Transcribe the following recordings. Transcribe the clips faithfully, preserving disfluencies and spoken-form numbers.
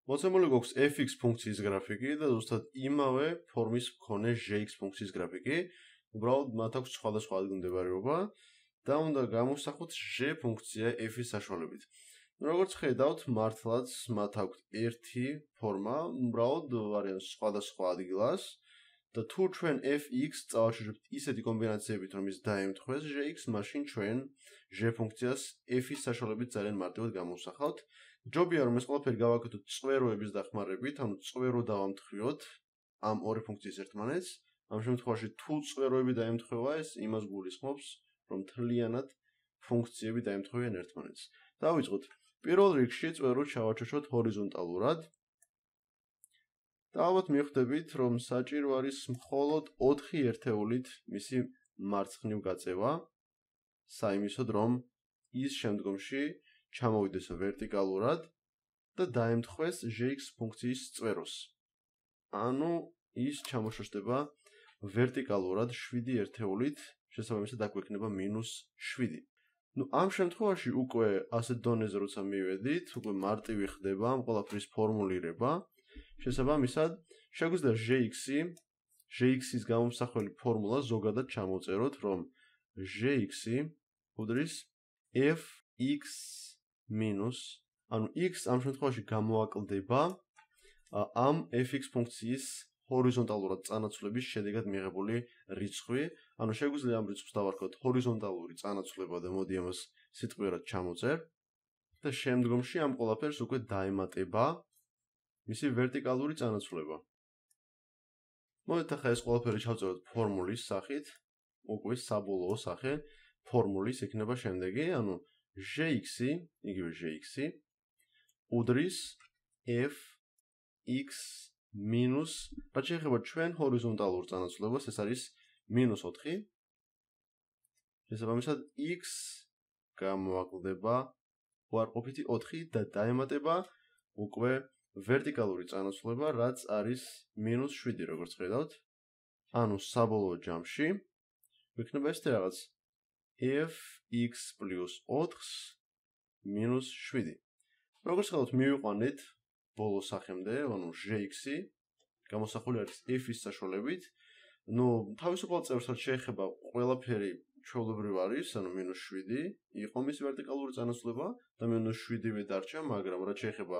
მოცემული გვაქვს f(x) ფუნქციის გრაფიკი და ზუსტად იმავე ფორმის მქონე g(x) ფუნქციის გრაფიკი. უბრალოდ მათ აქვს სხვადასხვა ადგილმდებარეობა და უნდა გამოვსახოთ g ფუნქცია f-ის საშუალებით. როგორც ხედავთ, მართლაც მათ აქვს ერთი ფორმა, უბრალოდ არიან სხვადასხვა ადგილას და თუ ჩვენ f(x) წავაშორებთ ისეთი კომბინაციებით, რომ ის დაემთხვეს g(x), მაშინ ჩვენ g ფუნქციას f-ის საშუალებით ძალიან მარტივად გამოვსახავთ. ჯობია რომ ეს ყველაფერი გავაკეთოთ წვეროების დახმარებით, ანუ წვერო დავამთხვიოთ ამ ორი ფუნქციის ერთმანეთს. ამ შემთხვევაში თუ წვეროები დაემთხვევა, ეს იმას გულისხმობს, რომ მთლიანად ფუნქციები დაემთხვევიან ერთმანეთს. დავიწყოთ. პირველ რიგში წვერო ჩავაჩოჩოთ ჰორიზონტალურად. და ალბათ მიხვდებით, რომ საჭირო არის მხოლოდ ოთხი ერთეულით მისი მარცხნივ გაწევა, საიმისოდ რომ ის შემდგომში ჩამოვიდეს ვერტიკალურად და დაემთხვეს g(x) ფუნქციის წვეროს. ანუ ის ჩამოშოშდება ვერტიკალურად შვიდი ერთეულით, შესაბამისად აქ გვექნება მინუს შვიდი. ნუ ამ შემთხვევაში უკვე ასეთ დონეზე როცა მივედით, უკვე მარტივი ხდება ამ ყველაფრის ფორმულირება. შესაბამისად, შეგვიძლია g(x)-ი, g(x)-ის გამომსახველი ფორმულა ზოგადად ჩამოვწეროთ, რომ g(x)-ი უდრის f(x) მინუს, ანუ x ამ შემთხვევაში გამოაკლდება ამ f(x) ფუნქციის ჰორიზონტალურად წანაცვლების შედეგად მიღებული რიცხვი, ანუ შეგვიძლია ამ რიცხვს დავარქვათ ჰორიზონტალური წანაცვლება და მოდი ამას სიტყვიერად ჩამოვწერ და შემდგომში ამ ყველაფერს უკვე დაემატება მისი ვერტიკალური წანაცვლება. მოდით ახლა ეს ყველაფერი ჩავწეროთ ფორმულის სახით, უკვე საბოლოო სახე ფორმულის იქნება შემდეგი, ანუ g(x)-ი, იგივე g(x)-ი უდრის f(x) მინუს, რაც შეეხება ჩვენ ჰორიზონტალურ წანაცვლებას, ეს არის მინუს ოთხი. შესაბამისად, x გამოაკლდება უარყოფითი ოთხი და დაემატება უკვე ვერტიკალური წანაცვლება, რაც არის მინუს შვიდი, როგორც ხედავთ. ანუ საბოლოო ჯამში გვექნება ესეთი რაღაც f(x) პლუს ოთხს მინუს შვიდი. როგორც ხედავთ, მივიყვანეთ ბოლო სახემდე, ანუ g(x)-ი გამოსახული არის f-ის საშუალებით. ნუ თავისუფალ წევრსაც შეეხება ყველაფერი ჩვეულებრივ არის, ანუ მინუს შვიდი იყო მის ვერტიკალური წანაცვლება და მინუს შვიდივე დარჩა, მაგრამ რაც შეეხება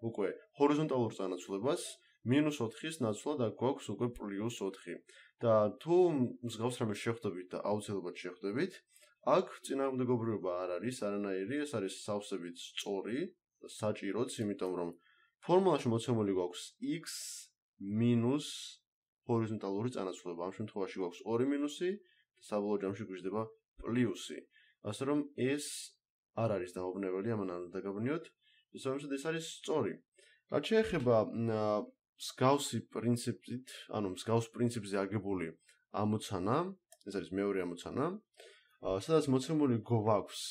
უკვე ჰორიზონტალურ წანაცვლებას, მინუს ოთხის ნაცვლად აქ გვაქვს უკვე პლუს ოთხი. და თუ მსგავს რამეს შეხვდებით და აუცილებლად შეხვდებით, აქ წინააღმდეგობრიობა არ არის არანაირი, ეს არის სავსებით სწორი და საჭიროც, იმიტომ რომ ფორმულაში მოცემული გვაქვს x მინუს ჰორიზონტალური წანაცვლება. ამ შემთხვევაში გვაქვს ორი მინუსი და საბოლოო ჯამში გვიждდება პლუსი. ასე რომ ეს არ არის დამობნეველი, ამან არ უნდა დაგაბნიოთ. შესაბამისად ეს არის სწორი. რაც შეეხება მსგავსი პრინციპით, ანუ მსგავს პრინციპზე აგებული ამოცანა, ეს არის მეორე ამოცანა, სადაც მოცემული გვაქვს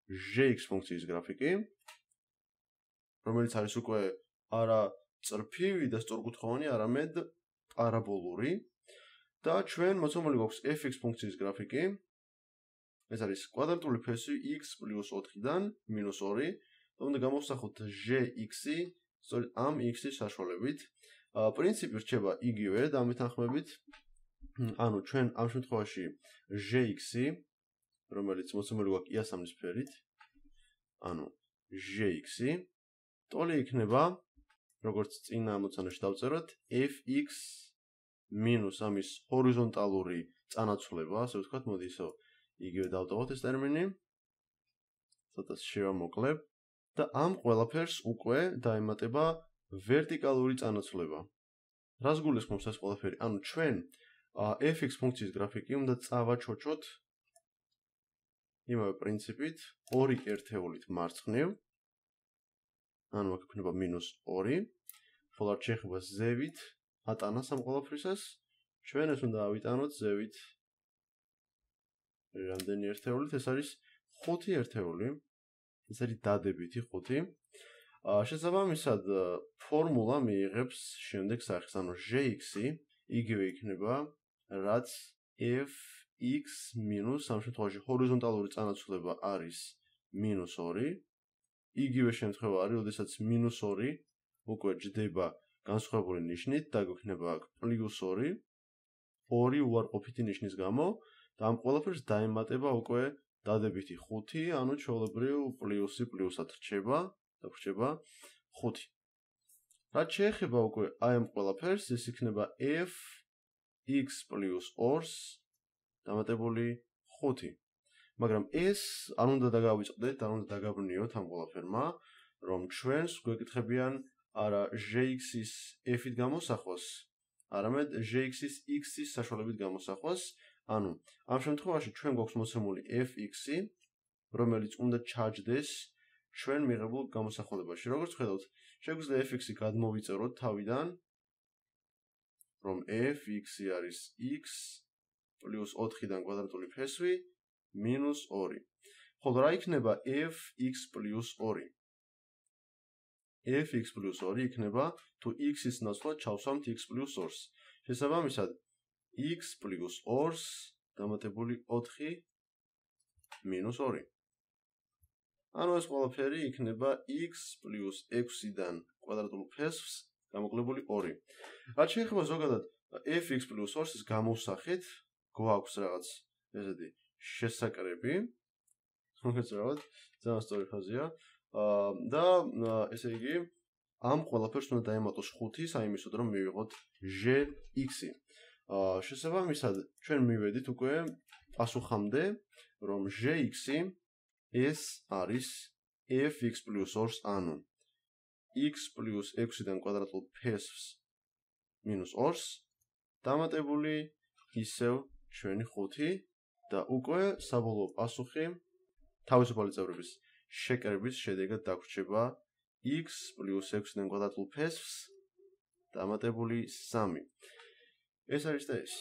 g(x) ფუნქციის გრაფიკი, რომელიც არის უკვე არა წრფივი და სწორკუთხოვანი, არამედ პარაბოლური და ჩვენ მოცემული გვაქვს f(x) ფუნქციის გრაფიკი. ეს არის კვადრატული ფესი x პლუს ოთხიდან მინუს ორი და უნდა გამოვსახოთ g(x)-ი სწორედ ამ x-ის საშუალებით. პრინციპი რჩება იგივე და ამით თანხმებით, ანუ ჩვენ ამ შემთხვევაში g(x)-ი, რომელიც მოცემული გვაქვს იასამნის ფერით, ანუ g(x)-ი ტოლი იქნება, როგორც წინა ამოცანაში დავწეროთ, f(x) მინუს ამის ჰორიზონტალური წანაცვლება, ასე ვთქვათ, მოდი ისო იგივე დავტოვოთ ეს ტერმინი. ცოტა შევამოკლებ და ამ ყველაფერს უკვე დაემატება ვერტიკალური წანაცვლება. რას გულისხმობს ეს ყველაფერი? ანუ ჩვენ f(x) ფუნქციის გრაფიკი უნდა წავაჩოჩოთ იმავე პრინციპით, ორი ერთეულით მარცხნივ. ანუ აქ იქნება მინუს ორი. ხოლო რაც შეეხება ზევით ატანას ამ ყველაფრისას, ჩვენ ეს უნდა ავიტანოთ ზევით რამდენი ერთეულით? ეს არის ხუთი ერთეული. ეს არის დადებითი ხუთი. შესაბამისად, ფორმულა მიიღებს შემდეგ სახეს, ანუ g(x)-ი იგივე იქნება, რაც f(x) მინუს ამ შემთხვევაში ჰორიზონტალური წანაცვლება არის მინუს ორი. იგივე შემთხვევა არის, როდესაც მინუს ორი უკვე ჯდება განსხვავებული ნიშნით და გვექნება აქ პლუს ორი, ორი უარყოფითი ნიშნის გამო და ამ ყველაფერს დაემატება უკვე დადებითი ხუთი, ანუ ჩვეულებრივ პლუსი პლუსად რჩება და რჩება ხუთი. რაც შეეხება უკვე აი ამ ყველაფერს, ეს იქნება f x plus ორს დამატებული ხუთი. მაგრამ ეს არ უნდა დაგავიწყდეთ, არ უნდა დაგაბრუნიოთ ამ ყველაფერმა, რომ ჩვენს გვეკითხებიან არა gx-ის f-ით გამოსახვას, არამედ gx-ის x-ის საშუალებით გამოსახვას. ანუ ამ შემთხვევაში ჩვენ გვაქვს მოცემული fx-ი, რომელიც უნდა ჩაჯდეს ჩვენ მიღებულ გამოსახულებაში. როგორც ხედავთ, შეგვიძლია fx-ი გადმოვიწეროთ თავიდან, რომ fx-ი არის x პლუს ოთხიდან კვადრატული ფესვი მინუს ორი. ხოლო რა იქნება fx პლუს ორი? fx პლუს ორი იქნება თუ x-ის ნაცვლად ჩავსვამთ x პლუს ორს. შესაბამისად, x პლუს ორს დამატებული ოთხი მინუს ორი. ანუ ეს ყველაფერი იქნება x პლუს ექვსიდან კვადრატულ ფესვს გამოკლებული ორი. რაც შეეხება ზოგადად fx პლუს ორს ის გამოვსახით, გვაქვს რაღაც ესეთი შესაკრები, რომელიც რაღაც ძალიან სწორი ფაზია და ესე იგი ამ ყველაფერს უნდა დაემატოს ხუთი საიმისოდ რომ მივიღოთ gx-ი. შესაბამისად, ჩვენ მივედით უკვე პასუხამდე, რომ gx-ი ეს არის fx პლუს ორს, ანუ x პლუს ექვსიდან კვადრატულ ფესვს მინუს ორს დამატებული ისევ ჩვენი ხუთი და უკვე საბოლოო პასუხი თავისუფალი წევრების შეკრების შედეგად დაგვრჩება x პლუს ექვსიდან კვადრატულ ფესვს დამატებული სამი. ეს არის და ეს.